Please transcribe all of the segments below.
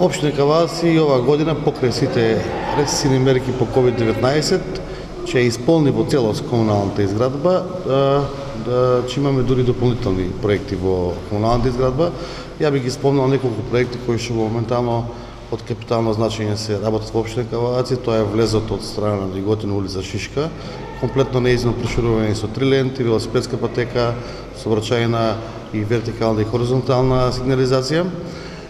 Општина Каваци и оваа година покрај сите рестрикцијни мерки по COVID-19 ќе исполни во целост комуналната изградба, че имаме дури дополнителни проекти во комуналната изградба. Ја би ги спомнал неколку проекти кои што моментално од капитално значење се работат во општина Каваци. Тоа е влезот од страна на Иготина улица Шишка, комплетно неизменно проширување со 3 ленти, велосипедска патека, сообраќајна и вертикална и хоризонтална сигнализација.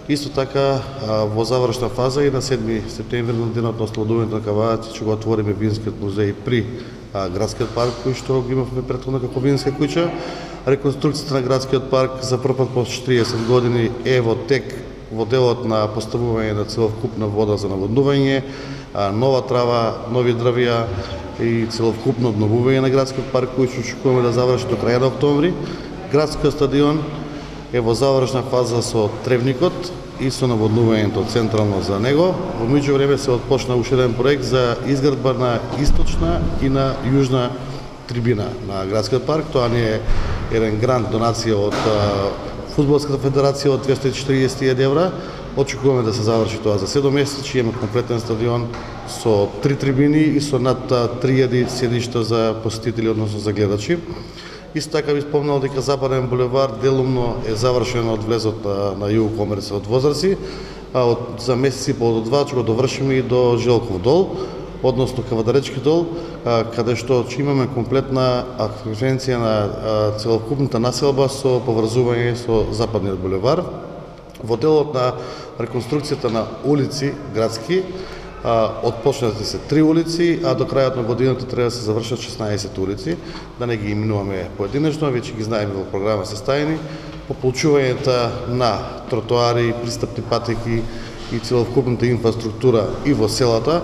Исто така во завршна фаза и на 7 септември на денот на ослободувањето на Каваци ќе го отвориме винскиот музеј при градскиот парк кој што го имавме претходно како винска куќа. Реконструкцијата на градскиот парк за прв пат после 40 години е во тек во делот на поставување на целокупна вода за наводнување, нова трава, нови дрвја и целокупно обновување на градскиот парк кој што очекуваме да заврши до крај на октомври. Градскиот стадион е во завршна фаза со тревникот и со наводнувањето централно за него. Во меѓувреме се отпочна уште еден проект за изградба на источна и на јужна трибина на градскиот парк. Тоа не е еден грант донација од Фудбалската федерација од 240.000 евра. Очекуваме да се заврши тоа за 7 месеци, имаме комплетен стадион со 3 трибини и со над 3000 седишта за посетители, односно за гледачи. Исто така би спомнал дека Западен булевар делумно е завршен од влезот на Југокомерца од Возраци. За месец и пол до 2 ќе го довршиме и до Желков дол, односно Кавадаречки дол, каде што ќе имаме комплетна акваференција на целокупната населба со поврзување со Западниот булевар. Во делот на реконструкцијата на улици градски, отпочнати се 3 улици, а до крајот на годината треба да се завршат 16 улици, да не ги именуваме поединечно, веќе ги знаеме во програма составени. Пополучувањето на тротоари, пристапни патеки и целокупната инфраструктура и во селата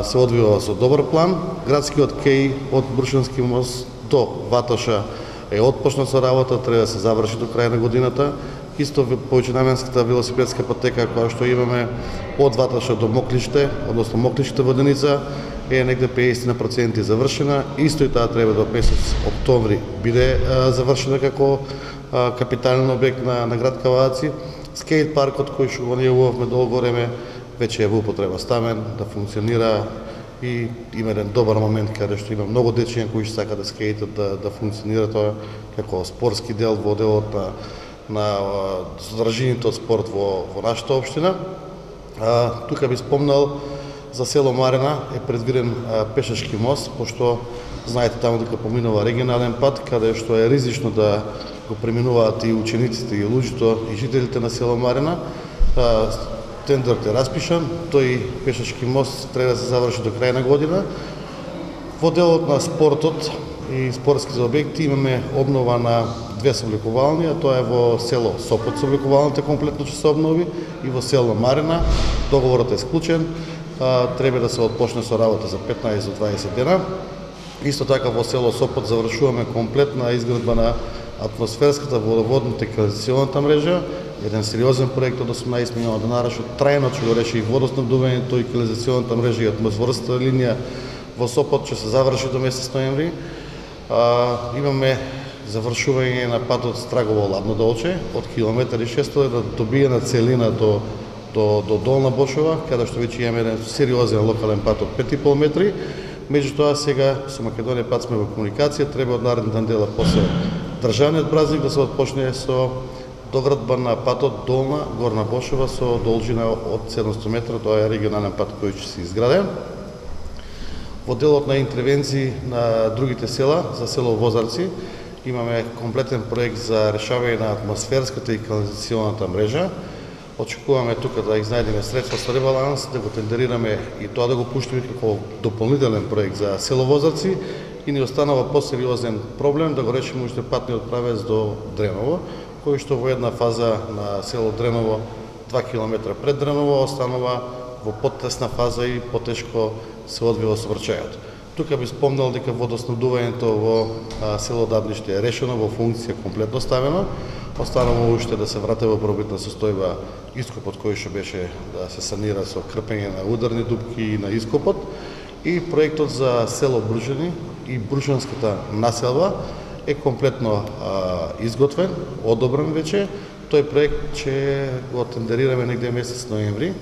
се одвива со добар план. Градскиот кеј од Брушански мост до Ватоша е отпочнат со работа, треба да се заврши до крај на годината. Исто повеќенаменската велосипедска патека која што имаме од Ватоша до Моклиште, односно Моклиште воденица, е негде 50% завршена. Исто и таа треба до месец октомври биде завршена како капитален објект на град Каваци. Скејт паркот кој што го најавувавме долго време веќе е во употреба ставен, да функционира и има еден добар момент каде што има многу дечиња кои што сака да скејтат да функционира тоа како спортски дел во делот на содржините од спорт во нашата општина. Тука би спомнал за село Марина е предвиден пешачки мост, пошто знаете таму дека поминува регионален пат, каде што е ризично да го преминуваат и учениците и луѓето и жителите на село Марина. Тендерот е распишан, тој пешачки мост треба да се заврши до крај на година. Во делот на спортот и спортските објекти имаме обнова на 2 собликувални, а тоа е во село Сопот собликувалната комплетно ќе се обнови и во село Марина. Договорот е склучен, треба да се отпочне со работа за 15 до 20 дена. Исто така во село Сопот завршуваме комплетна изградба на атмосферската водоводната и канализационата мрежа, еден сериозен проект од 18 милиона денари што трајно ќе го реши и водоснабдувањето и канализационата мрежа и атмосферската линија во Сопот ќе се заврши до месец ноември. Имаме завршување на патот Страгово-Ладно Долче од километар и 600 да добие на целина до Долна Бошова, каде што веќе имаме еден сериозен локален пат од 5,5 метри. Меѓутоа сега со Македонија пат сме во комуникација, треба од наредната недела после државниот празник да се отпочне со доградба на патот Долна Горна Бошова со должина од 700 метра, тоа е регионален пат кој ќе се изграде. Во делот на интервенции на другите села, за село Возарци, имаме комплетен проект за решавање на атмосферската и канализационата мрежа. Очекуваме тука да изнајдеме средства со ребаланс, да го тендерираме и тоа да го пуштиме како дополнителен проект за село Возарци и ни останува посериозен проблем да го решиме уште патниот правец до Дреново, кој што во една фаза на село Дреново 2 км пред Дреново останува во потесна фаза и потешко се одвива сообраќајот. Тука би спомнал дека водоснабдувањето во село Дабниште е решено, во функција комплетно ставено. Останува уште да се врати во пробитна состојба ископот кој што беше да се санира со крпење на ударни дупки и на ископот. И проектот за село Брушани и Брушанската населба е комплетно изготвен, одобрен веќе. Тој проект ќе го тендерираме негде месец ноември.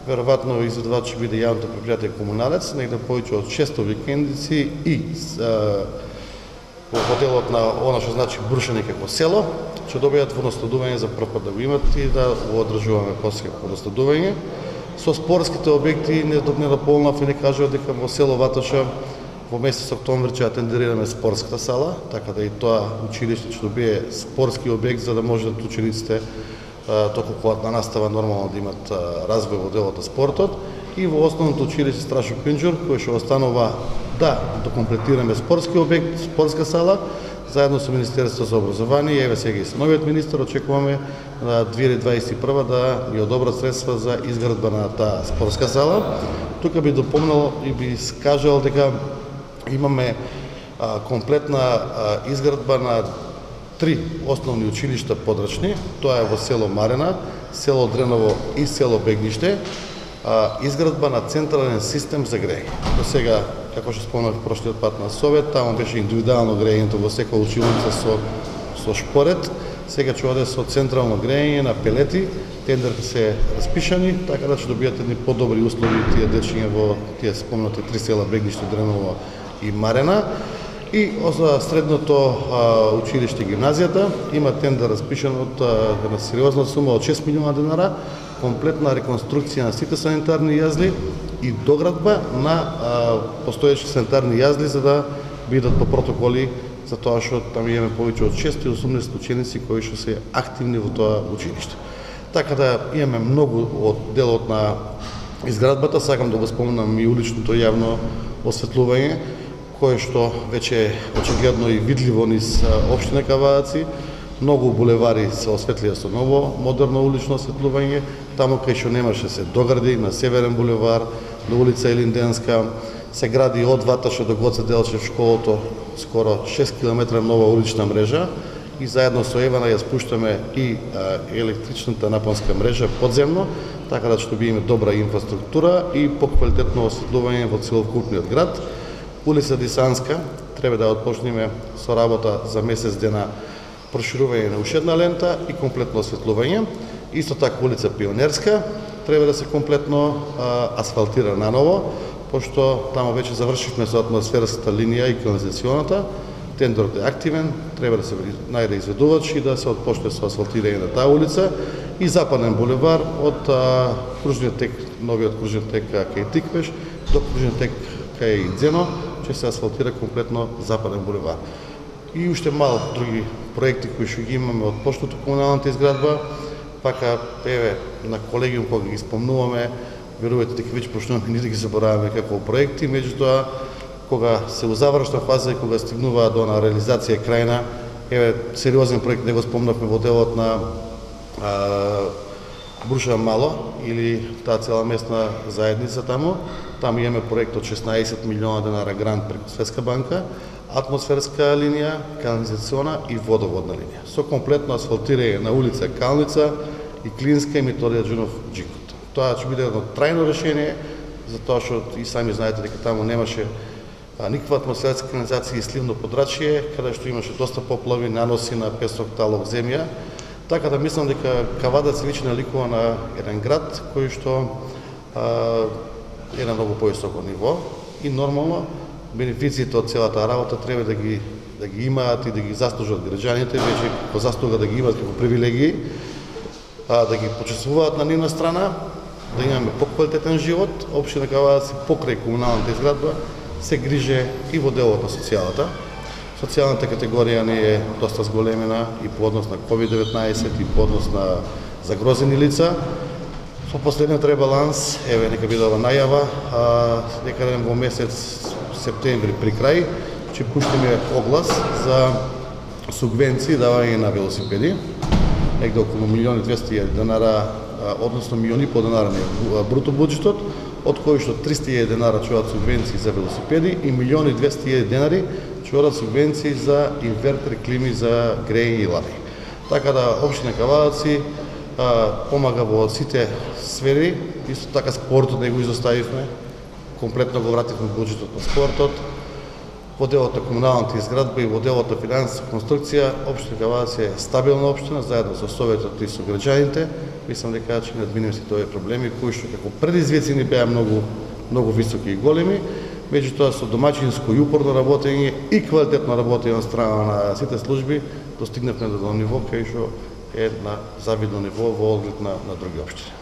Веројатно изведувач ќе биде јавното предпријатие Комуналец, негде повеќе од 600 викендици и во делот на она што значи Брушани како село, ќе добијат водоснабдување за прв пат да го имат и да го одржуваме после водоснабдување. Со спортските објекти не дополнав и не кажува дека во село Ватоша во месец октомври ќе тендерираме спортската сала, така да и тоа училиште ќе добие спортски објект за да можат учениците току кога на настава нормално да имат развој во делот на спортот. И во основното училиште Страшо Пинџур, кој што останува да докомплетираме спортски објект, спортска сала, заедно со Министерството за образование, еве сега и со новиот министер очекуваме на 2021 да ни одобрат средства за изградба на таа спортска сала. Тука би допомнал и би скажал дека имаме комплетна изградба на 3 основни училишта подрачни, тоа е во село Марена, село Дреново и село Бегниште, изградба на централен систем за грејење. До сега, како што спомнав прошлиот пат на совет, таму беше индивидуално грејењето во секоја училница со шпоред, сега ќе оде со централно грејење на пелети, тендерите се распишани, така да ќе добијат едни подобри услови тие дечиња во тие спомнати 3 села Бегниште, Дреново и Марена. И за средното училиште гимназијата има тендер распишан од една сериозна сума од 6 милиона денара, комплетна реконструкција на сите санитарни јазли и доградба на постоечки санитарни јазли за да бидат по протоколи, за тоа што таму имаме повеќе од 680 ученици кои што се активни во тоа училиште. Така да имаме многу од делот на изградбата, сакам да го спомнам и уличното јавно осветлување, кое што веќе е очигледно и видливо низ општина Кавадаци. Многу булевари се осветлија со ново, модерно улично осветлување. Таму кај што немаше се догради, на Северен булевар, на улица Елинденска, се гради од Ватоша до Гоце Делчев школото, скоро 6 км нова улична мрежа и заедно со Евана ја спуштаме и електричната напонска мрежа подземно, така да ќе добиеме добра инфраструктура и поквалитетно осветлување во целокупниот град. Улица Дисанска треба да отпочнеме со работа за месец дена проширување на уште една лента и комплетно осветлување. Исто така улица Пионерска треба да се комплетно асфалтира наново, пошто таму веќе завршивме со атмосферската линија и канализационата. Тендерот е активен, треба да се најде изведувач и да се отпочне со асфалтирање на таа улица и Западен булевар од кружниот тек, новиот кружен тек кај Тиквеш до кружен тек кај Дзено, ќе се асфалтира комплетно Западен булевар. И уште мал други проекти кои што ги имаме од почнато комуналната изградба, пака еве на колегиум кога ги спомнуваме, верувајте дека веќе почнуваме ние да ги забораваме како проекти, меѓутоа кога се у завршна фаза и кога стигнува до на реализација крајна, еве сериозен проект не го спомнавме во делот на Бруша Мало или таа цела местна заедница таму. Таму имаме проект од 16 милиона денара грант преку Светска банка, атмосферска линија, канализациона и водоводна линија. Со комплетно асфалтирање на улица Калница и Клинска и Методија Џунов Джикот. Тоа ќе биде едно трајно решение, затоа што и сами знаете дека таму немаше никаква атмосферска канализација и сливно подрачје, каде што имаше доста поплави, наноси на песок, талок, земја. Така да мислам дека Кавадац веќе наликува на еден град кој што е на многу повисоко ниво и нормално бенефициите од целата работа треба да ги имаат и да ги заслужат граѓаните, веќе по заслуга да ги имаат како привилегии, да ги почествуваат на нивна страна, да имаме поквалитетен живот. Општина Кавадац покрај комуналната изградба се грижи и во делот на социјалата. Социјалната категорија не е доста зголемена и по однос на COVID-19 и по однос на загрозени лица. Со последниот ребаланс, еве нека биде ова најава, некаде во месец септември при крај ќе пуштиме оглас за субвенции давање на велосипеди, негде околу 1.200.000 денара, односно 1.500.000 денара на бруто буџетот, од кои што 300.000 денара ќе одат субвенции за велосипеди и 1.200.000 денари ќе одат субвенции за инвертери, клими за грејење и лади. Така да општина Кавадаци помага во сите сфери, исто така спортот не го изоставивме, комплетно го вративме буџетот на спортот. во делот на комуналната изградба и во делот на финансиска конструкција, општина Каварци е стабилна општина, заедно со Советот и со граѓаните. Мислам дека ќе надминеме сите овие проблеми, кои што како предизвици ни беа многу високи и големи, меѓутоа со домаќинско и упорно работење и квалитетно работење од страна на сите служби, достигнавме до ниво кај што е на завидно ниво во оглед на други општини.